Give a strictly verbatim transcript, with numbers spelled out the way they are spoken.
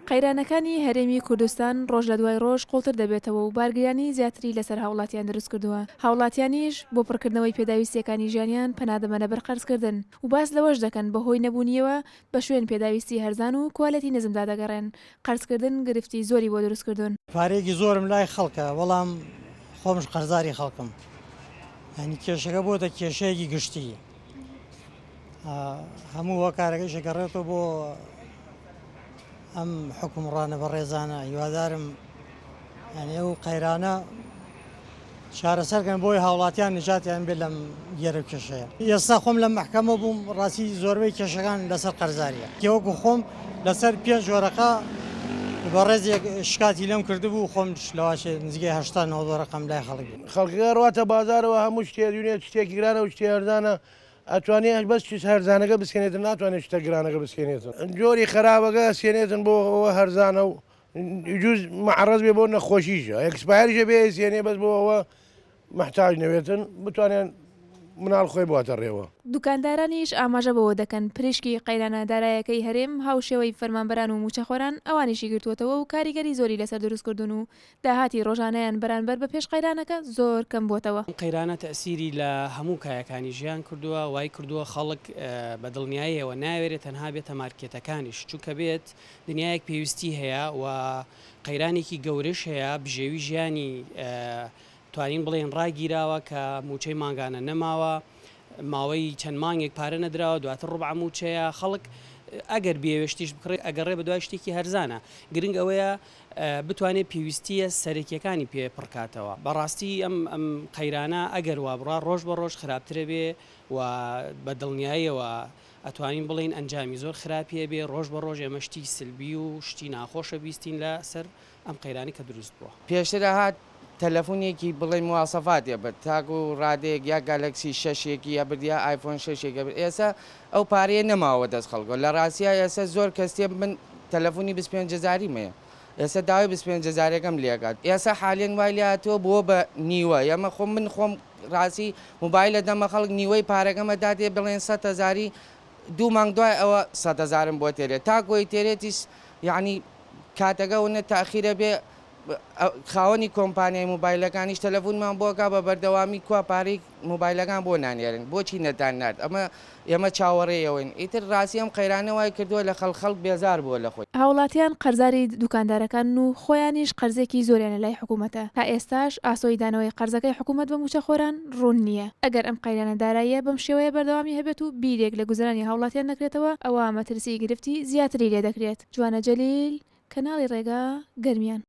قەیرانەکانی هەرێمی کوردستان ڕۆژ لە دوای ڕۆژ قوڵتر دەبێتەوە و بارگرانی زیاتری لەسەر هاوڵاتیان دروستکردووە، هاوڵاتیانیش بۆ پڕکردنەوەی پێداویستییەکانی ژیانیان پەنا دەبەنە بەر قەرزکردن و باس لەوەش دەکەن بەهۆی نەبوونیەوە بە شوێن پێداویستی هەرزان و کوالێتی نزمدا دەگەڕێن، قەرزکردن گرفتی زۆری بۆ دروستکردوون. پارەیەکی زۆرم لای خەڵکە، بەڵام خۆمش قەرزاری خەڵکم، یعنی کێشەکە بۆتە کێشەیەکی گشتی، هەموو هۆکارەکەیش ئەگەڕێتەوە بۆ ئەم حکومڕانە بەڕێزانە. هیوادارم یعنی ئەو قەیرانە چارەسەرکەن بۆی هاوڵاتیان نجاتیان بێت لەم گێرە کێشەیە. ئێستا خۆم لە مەحکەمە بووم، ڕاستی زۆربەی کێشەکان لەسەر قەرزاریە. وەکو خۆم لەسەر پێنج وەرەقە بەڕێزێک شکاتی لەم کردبوو، خۆم لەواشێ نزیکەی هەشتا نەوەد وەرەقەم لای خەڵک بوو. خەڵکەکە ڕواتە بازارەوە هەموو شتێ دوێنێ شتێکی گرانە و شتێ هەرزانە، ئەتوانێت بەس چیز هەرزانەکە بسێنێتن، ناتوانێت شتە گرانەکە بسێنێتن. جۆری خراپەکە سێنێتن بۆ ئەوە هەرزانە و جوز معرض بێ بۆ نەخۆشیشە، ئێکسپایەریشە بێ سێنێ بەس بۆ ئەوە محتاج نەوێتن بتوانێن مناڵ خۆی بواتە ڕێوە. دوکاندارانیش ئاماژە بەوە دەکەن پریشکی قەیرانە دارایەکەی هەرێم هاوشێوەی فەرمانبەران و موچەخۆران ئەوانیشی گرتووەتەوە و کاریگەری زۆری لەسەر دروستکردون و داهاتی ڕۆژانەیان بەرانبەر بە پێش قەیرانەکە زۆر کەم بووەتەوە. قەیرانە تەسیری لە هەموو کایەکانی ژیان کردووە، وای کردووە خەڵک بە دڵنیاییەوە ناوێرێت تەنها بێتە مارکێتەکانیش، چونکە بێت دنیایەک پێویستی هەیە و قەیرانێکی گەورەش هەیە، بژێوی ژیانی توانین بڵێن ڕاگیراوە کە موچەی مانگانە نەماوە، ماوەی چەند مانگێک پارە نەدراوە، دواتر ڕوبع موچەیە. خەڵک ئەگەر بێوێشتیش بکڕێت ئەگەڕێ بە دوای شتێکی هەرزانە، گرنگ ئەوەیە بتوانێت پێویستیە سەرەکیەکانی پێ پڕکاتەوە. بەڕاستی ئەم ئەم قەیرانە ئەگەر وا بڕا ڕۆژ بە ڕۆژ خراپترە بێ و بە دڵنیاییەوە ئەتوانین بڵێین ئەنجامی زۆر خراپیە بێ. ڕۆژ بە ڕۆژ ئێمە شتی سلبی و شتی ناخۆشە بیستین لەسەر ئەم قەیرانی کە دروست بووە. پێشتر هات تەلەفۆنێکی بڵێ مواسەفاتێ بێت تاکو ڕادەیەک یا گالکسی شەشێکی یا برد یا ئایفۆن شەشێکە برد، ئێستا ئەو پارەیە نەماوە دەست خەڵکەوە. لە ڕاستیا ئێستا زۆر کەس تێ من تەلەفۆنی بیست پێنج هەزاریم هەیە، ئێستا داوای بیست پێنج هەزارەکەم لێکات، ئێستا حالێن وای لێ هاتووە بووە بە نیوە. ئێمە خۆم من خۆم ڕاستی مۆبایلە دەمە خەڵک نیوەی پارەکەمە داتێ بڵێن سەد هەزاری، دوو مانگ دوای ئەوە سەد هەزارم بۆ تێرێت، تاکۆی تێرێتیش یعنی کاتەکە ونە تاخیرە بێ. خاوەنی کۆمپانیای مۆبایلەکانیش تەلەفۆنمان بۆکا بە بەردەوامی کوا پارەی مۆبایلەکان بۆ نانێرن، بۆچی نەتان نارد؟ ئەمە ئێمە چاوەڕێیەوەین. ئیتر ڕاستی ئەم قەیرانە وای کردووە لە خەڵک خەڵک بێزار بووە لە خۆی. هاوڵاتیان قەرزاری دوکاندارەکان و خۆیانیش قەرزێکی زۆریان لە لای حکوومەتە، تا ئێستاش ئاسۆی دانەوەی قەرزەکەی حکوومەت بە موچەخۆران ڕوون نییە. ئەگەر ئەم قەیرانە داراییە بەم شێوەیە بەردەوامی هەبێت و بیرێک لە گوزەرانی هاوڵاتیان نەکرێتەوە، ئەوە مەترسی گرفتی زیاتری لێ دەکرێت. جوانە جەلیل، کەناڵی ڕێگا، گەرمیان.